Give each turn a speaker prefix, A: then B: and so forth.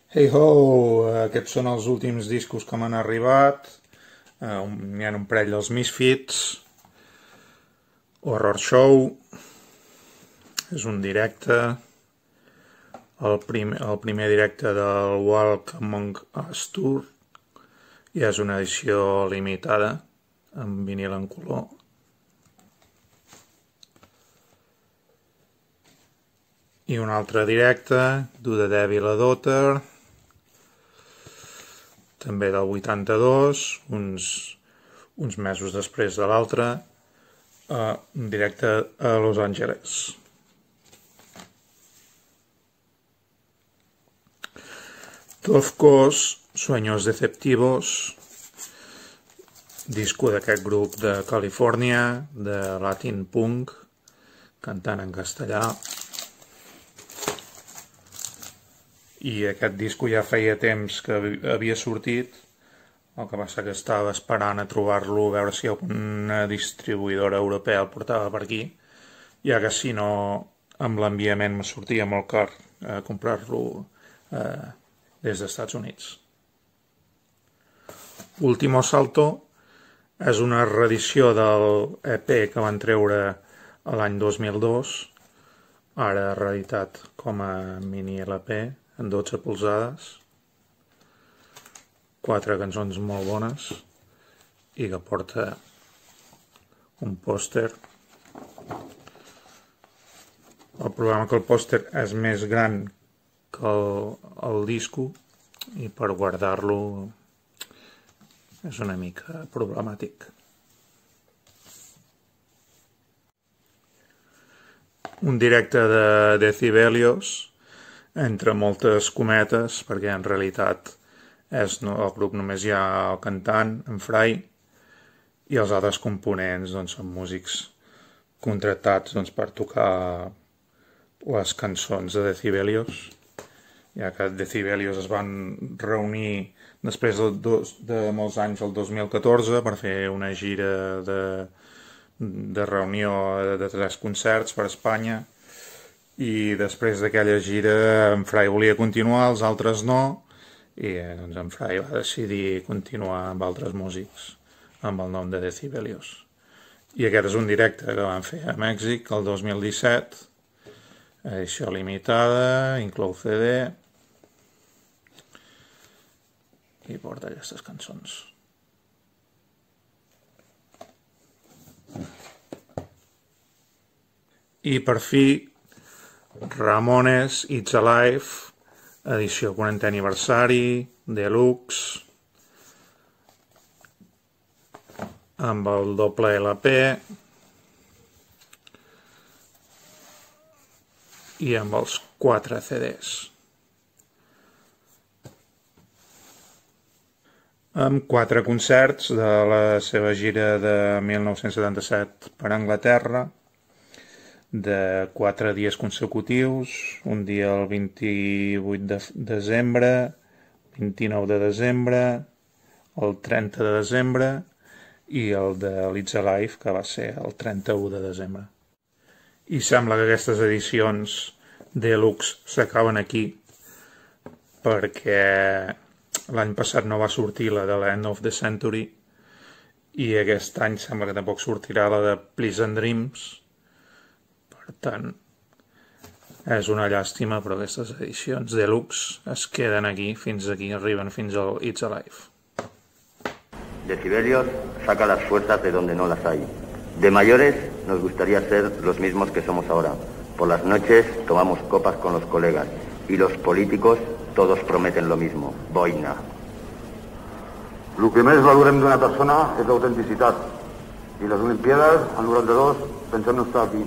A: Hey ho, aquests són els últims discos que m'han arribat. N'hi ha un parell dels Misfits. Horror Show. És un directe. El primer directe del Walk Among Us Tour. I és una edició limitada, amb vinil en color. I un altre directe, Do the Devil a Daughter, també del 82, uns mesos després de l'altre, un directe a Los Angeles. Tofcos, Sueños Deceptivos, disco d'aquest grup de Califòrnia, de Latin Punk, cantant en castellà. I aquest disco ja feia temps que havia sortit, el que passa que estava esperant a trobar-lo, a veure si una distribuïdora europea el portava per aquí, ja que si no, amb l'enviament me sortia molt car comprar-lo des dels Estats Units. Último Salto és una reedició del EP que van treure l'any 2002, ara reeditat com a mini LP, en 12 polzades, 4 cançons molt bones i que porta un pòster. El problema que el pòster és més gran que el disco i per guardar-lo és una mica problemàtic. Un directe de Decibelios, entre moltes cometes, perquè en realitat el grup només hi ha el cantant, en Fray, i els altres components són músics contractats per tocar les cançons de Decibelios, ja que Decibelios es van reunir després de molts anys, el 2014, per fer una gira de reunió de 3 concerts per Espanya, i després d'aquella gira en Fray volia continuar, els altres no, i en Fray va decidir continuar amb altres músics amb el nom de Decibelios. I aquest és un directe que van fer a Mèxic el 2017, edició limitada, inclou CD i porta aquestes cançons. I per fi Ramones It's Alive, edició 40è aniversari, deluxe, amb el doble LP i amb els 4 CDs. Amb 4 concerts de la seva gira de 1977 per Anglaterra, de 4 dies consecutius, un dia el 28 de desembre, 29 de desembre, el 30 de desembre i el de It's Alive, que va ser el 31 de desembre. I sembla que aquestes edicions deluxe s'acaben aquí, perquè l'any passat no va sortir la de l'End of the Century i aquest any sembla que tampoc sortirà la de Pleasant Dreams. Per tant, és una llàstima, però aquestes edicions deluxe es queden aquí, arriben fins al It's Alive.
B: Decibelios saca las fuerzas de donde no las hay. De mayores nos gustaría ser los mismos que somos ahora. Por las noches tomamos copas con los colegas y los políticos todos prometen lo mismo, boina.
C: El que més valorem d'una persona és l'autenticitat. I les Olimpíades, en 92, pensem no estar aquí.